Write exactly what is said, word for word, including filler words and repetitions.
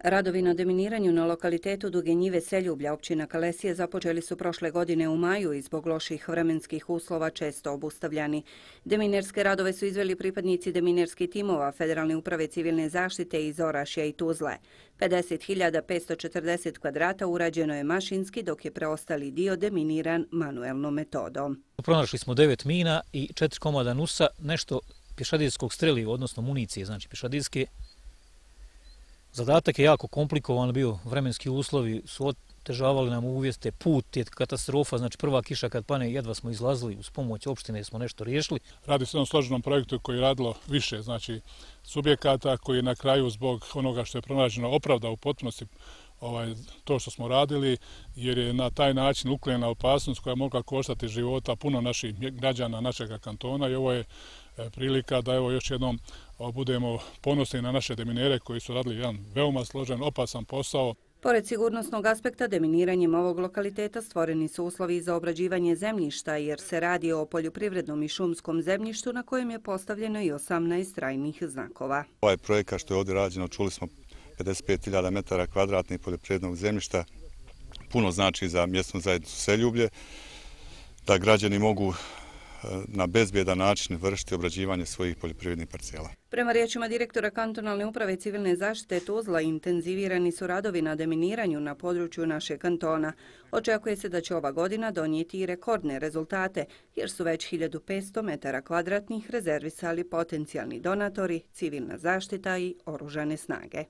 Radovi na deminiranju na lokalitetu Duge njive Seljublja, općina Kalesije, započeli su prošle godine u maju i zbog loših vremenskih uslova često obustavljani. Deminerske radove su izveli pripadnici deminerskih timova Federalne uprave civilne zaštite iz Orašja i Tuzle. pedeset hiljada petsto četrdeset kvadrata urađeno je mašinski, dok je preostali dio deminiran manuelnom metodom. Pronašli smo devet mina i četiri komada nusa, nešto pješadijskog streliva, odnosno municije, znači pješadijske. Zadatak je jako komplikovan bio, vremenski uslovi su otežavali nam uvjete, put je katastrofa, znači prva kiša kad pane jedva smo izlazili, uz pomoć opštine smo nešto riješili. Radi se o jednom složenom projektu koji je radilo više, znači subjekata koji je na kraju zbog onoga što je pronađeno opravda u potpunosti ovaj, to što smo radili, jer je na taj način uklonjena opasnost koja je mogla koštati života puno naših građana, našega kantona i ovo je prilika da evo još jednom budemo ponosni na naše deminere koji su radili jedan veoma složen, opasan posao. Pored sigurnosnog aspekta, deminiranjem ovog lokaliteta stvoreni su uslovi za obrađivanje zemljišta, jer se radi o poljoprivrednom i šumskom zemljištu na kojem je postavljeno i osamnaest trajnih znakova. Ovaj projekat što je ovdje rađeno, čuli smo pedeset pet hiljada metara kvadratnih poljoprivrednog zemljišta, puno znači za mjesnu zajednicu Seljublje, da građani mogu na bezbjedan način vršiti obrađivanje svojih poljoprivrednih parcela. Prema riječima direktora kantonalne uprave civilne zaštite Tuzla, intenzivirani su radovi na deminiranju na području našeg kantona. Očekuje se da će ova godina donijeti i rekordne rezultate, jer su već hiljadu petsto metara kvadratnih rezervisali potencijalni donatori, civilna zaštita i oružane snage.